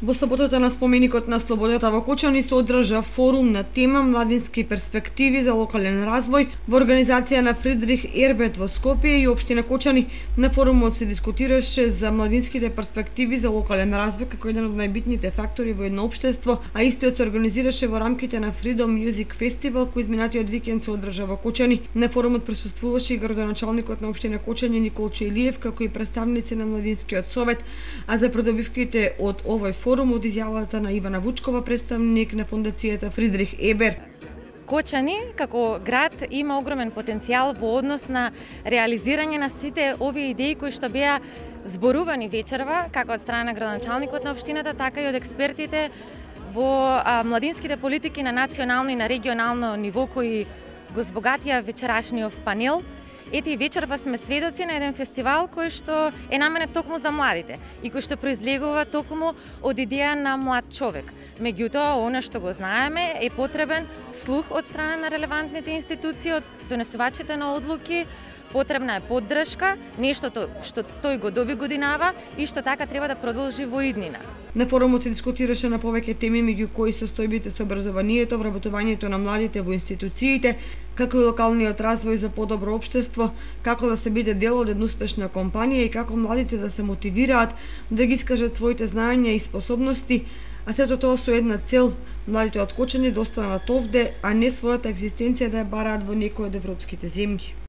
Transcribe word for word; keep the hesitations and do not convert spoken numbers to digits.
Во саботата на споменикот на слободата во Кочани се одржа форум на тема Младински перспективи за локален развој во организација на Фридрих Ерберт во Скопје и општина Кочани. На форумот се дискутираше за младинските перспективи за локален развој како еден од најбитните фактори во едно општество, а истиот се организираше во рамките на Freedom Music Festival кој изминатиот викенд се одржа во Кочани. На форумот присуствуваше и градоначалникот на општина Кочани Никол Чејлиев како и представници на Младинскиот совет, а за придобивките од овој форум од изјавата на Ивана Вучкова, представник на фондацијата Фридрих Ерберт. Кочани како град има огромен потенцијал во однос на реализирање на сите овие идеи кои што беа зборувани вечерва како од страна на градоначалникот на општината, така и од експертите во а, младинските политики на национално и на регионално ниво кои го збогатија вечерашниот панел. Ете и вечерва сме сведоци на еден фестивал кој што е наменет токму за младите и кој што произлегува токму од идеја на млад човек. Меѓутоа, она што го знаеме е потребен слух од страна на релевантните институции, од донесувачите на одлуки, потребна е поддршка, нешто што тој го доби годинава и што така треба да продолжи во иднина. На форумот се дискутираше на повеќе теми, меѓу кои состојбите со образованието, вработувањето на младите во институциите, како и локалниот развој за подобро општество, како да се биде дел од една успешна компанија и како младите да се мотивираат да ги искажат своите знаења и способности, а сето тоа со една цел – младите од Кочани да останат овде, а не својата екзистенција да ја бараат во некој од европските земји.